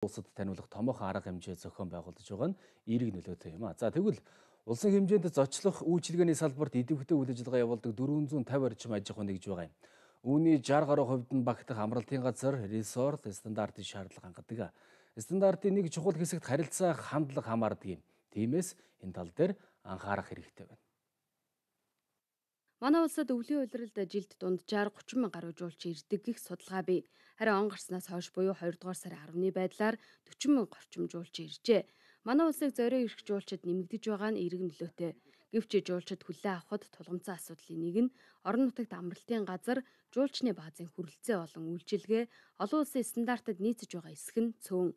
Улсад таниулах томоохон арга хэмжээ зохион байгуулж байгаа нь эерэг нөлөөтэй юм а. За тэгвэл улсын хэмжээнд зочлох үйлчилгээний салбарт идэвхтэй үйл ажиллагаа явуулдаг 450 орчим аж ахуй нэгж байгаа юм. Үүний 60 гаруй хувьд нь багтах амралтын газар, resort стандартын шаардлага хангадаг. Стандартын нэг чухал хэсэгт харилцаа хандлага хамаардаг юм. Тиймээс энэ тал дээр анхаарах хэрэгтэй байна. Манай улсад өвлийн улиралд жилд дунджаар 30 мянган гаруй жуулчин ирдэг гэх судалгаа бий. Харин он гарснаас хойш буюу 2 дугаар сарын 10-ны байдлаар 40 мянга орчим жуулчин иржээ. Манай улсыг зорио ирэх жуулчид нэмэгдэж байгаа нь эерэг нөлөөтэй. Гэвч жуулчид хүлээн авахд тулгымцсан асуудлын нэг нь орон нутагт амралтын газар, жуулчны баазын хүрэлцээ болон үйлчилгээ олон улсын стандартад нийцэж байгаа эсэх нь цөөн.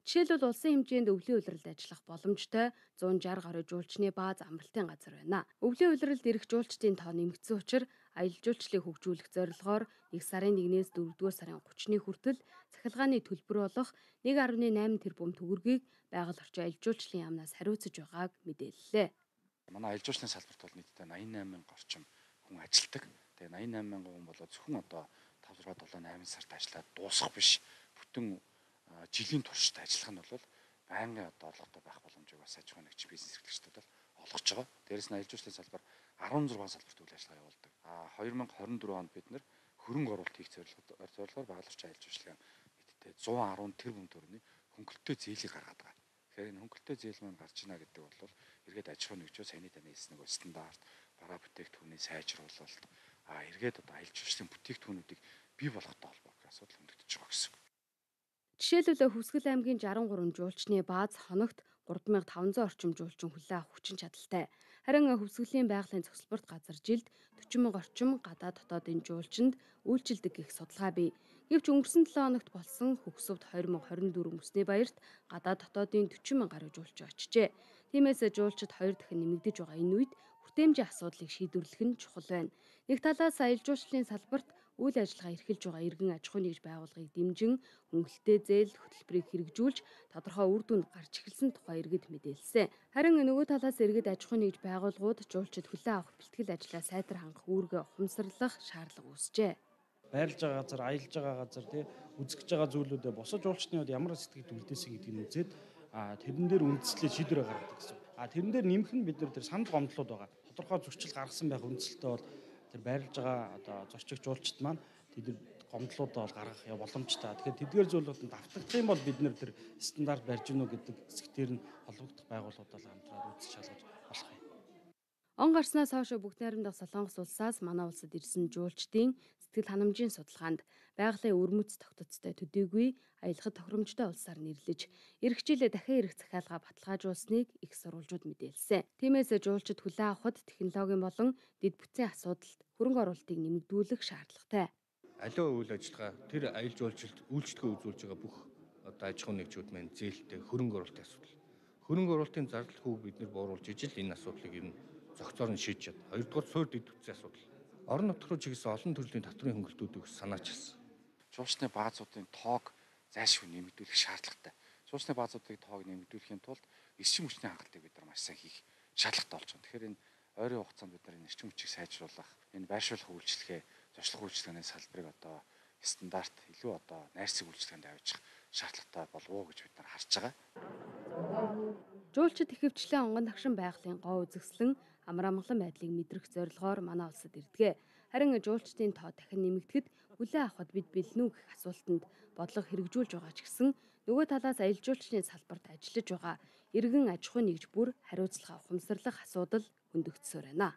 Жишээлбэл улсын хэмжээнд өвлийн улиралд ажиллах боломжтой 160 гаруй жуулчны бааз амралтын газар байна. Өвлийн улиралд ирэх жуулчдын тоо нэмэгдсэн учраас аялал жуулчлалыг хөгжүүлэх зорилгоор 1 сарын 1-ээс 4-р сарын 30-ны хүртэл цахилгааны төлбөр болох 1.8 тэрбум төгрөгийг байгаль орчин аялал жуулчлалын яамнаас хариуцаж байгааг мэдээллээ. Манай аялал жуулчлалын салбарт бол нийтдээ 88 мянга орчим хүн ажилладаг. Тэгээ 88 мянган хүн болоо зөвхөн одоо 5 6 7 8 сард ажиллаад дуусах биш. Бүтэн жилийн туршид ажиллах нь бол байнгын одоо орлоготой байх боломжийг бас аж ахуй нэгж бизнес эрхлэгчдүүд бол олгож байгаа. Дээрээс нь аялал жуулчлалын салбар 16 салбарт үйл ажиллагаа явуулдаг. 2024 онд бид нэр хөрөнгө оруулалт хийх зорилгоор байгаль орчин аялал жуулчлалын нийтдээ 110 тэрбум төгрөгийн хөнгөлөлтөө зээлийг гаргаад байгаа. Тэгэхээр энэ хөнгөлөлтөө зээл маань гарч ийна гэдэг бол эргээд аж ахуй нэгжөө саяны таны хэлсэн нэг стандарт, бараа бүтээгдэхүүний сайжруулалт, эргээд одоо аялал жуулчлалын бүтээгдэхүүнүүдийг бий болгохтой холбоотой асуудал хөндөгдөж байгаа гэсэн. Жишээлбэл Хүсгэл аймгийн 63 жуулчны бааз хоногт 3500 орчим жуулчин хүлээн авах хүчин чадалтай. Харин Хүсгэлийн байгалийн цогцлборт газар жилд 40 мянга орчим гадаад дотоодын жуулчинд үйлчилдэг гэх судалгаа бий. Гэвч өнгөрсөн 7 хоногт болсон Хөгсөвд 2024 Мөсний баярт гадаад дотоодын 40 мянга гаруй жуулчин очжээ. Тиймээс жуулчид 2 дахин нэмэгдэж байгаа энэ үед хүртээмжийн асуудлыг шийдвэрлэх нь чухал байна. Нэг талаас аялал жуулчлалын салбарт үйл ажиллагаа эрхэлж байгаа иргэн аж ахуй нэгж байгууллагыг дэмжин хөнгөлөлтэй зээл хөтөлбөрийг хэрэгжүүлж тодорхой үр дүнд гарч эхэлсэн тухай иргэд мэдээлсэн. Харин нөгөө талаас иргэд аж ахуй нэгж байгууллагууд жуулчид хүлээн авах бэлтгэл ажлаа сайтар хангах үүргээ ухамсарлах шаардлага үүсжээ. Байрлаж байгаа газар, аялж байгаа газар, үзэж байгаа зүйлүүдэд босож жуулчны хувьд ямар сэтгэл төлөвлөсөн гэдгийг үзээд тэрэн дээр үндэслэлээ шийдвэрээ гаргадаг гэсэн. Тэрэн дээр нэмэх нь бид нар тэр санал гомдлууд байгаа. Тодорхой зөрчил гаргасан байх үндсэлтэй бол тэр байрлаж байгаа одоо зорчигч жуулчид маань тэд гомдлуудаа бол гаргах боломжтой. Тэгэхээр тэдгээр зүйлүүд давтагдах юм бол бид нэр тэр стандарт барьж гинөө гэдэг хэсгээр нь холбогдох байгууллагуудаа хамтраад үзэж шалгаж болох юм. Он гарснаас хойш бүгд найрамдах Солонгос улсаас манай улсад ирсэн жуулчдын сэтгэл ханамжийн судалгаанд байгалийн өрмөц тогтцтой төдийгүй аялахад тохиромжтой улсаар нэрлэж эх жилээ дахин ирэх захиалга баталгаажуулсныг их сурвалжууд мэдээлсэн. Тиймээс жуулчид хүлээн авахд технологийн болон дэд бүтцийн асуудалд хөрөнгө оруулалтыг нэмэгдүүлэх шаардлагатай. Аливаа үйл ажиллагаа тэр аялал жуулчлалд үйлчлэгээ үзүүлж байгаа бүх одоо аж ахуй нэгжүүд маань зээлтэй хөрөнгө оруулалтын асуудал. Хөрөнгө оруулалтын зардал хүүг бид нар бууруулж ижил энэ асуудлыг ер нь зохицоор нь шийдэж чад. Хоёрдугаар суурь дэд бүтцийн асуудал. Орон нутг руу чигсэн олон төрлийн татврын хөнгөлтүүдийг санаачилсан. Жуулчны баазуудын тоог зайлшгүй нэмэгдүүлэх шаардлагатай. Жуулчны баазуудын тоог нэмэгдүүлэхийн тулд эрчим хүчний хангалтыг бид нар маш сайн хийх шаардлагатай болж байгаа. Тэгэхээр энэ ойрын хугацаанд бид нар энэ эрчим хүчийг сайжруулах, энэ байршуулах үйлчлэгээ, зочлох үйлчлэгээний салбарыг одоо стандарт илүү одоо найрсаг үйлчлэгээнд авчих шаардлагатай болов уу гэж бид нар харж байгаа. Жуулчид ихэвчлэн онгон тагшин байгалийн гоо үзэсгэлэн амар амгалан байдлыг мэдрэх зорилгоор манай улсад ирдэг. Харин жуулчдын тоо дахин нэмэгдэхэд хүлээн авахд бид бэлэн үү гэх асуултанд бодлого хэрэгжүүлж байгаа ч гэсэн нөгөө талаас аялал жуулчлалын салбарт ажиллаж байгаа иргэн аж ахуй нэгж бүр хариуцлага ухамсарлах асуудал хөндөгдсөөр байна.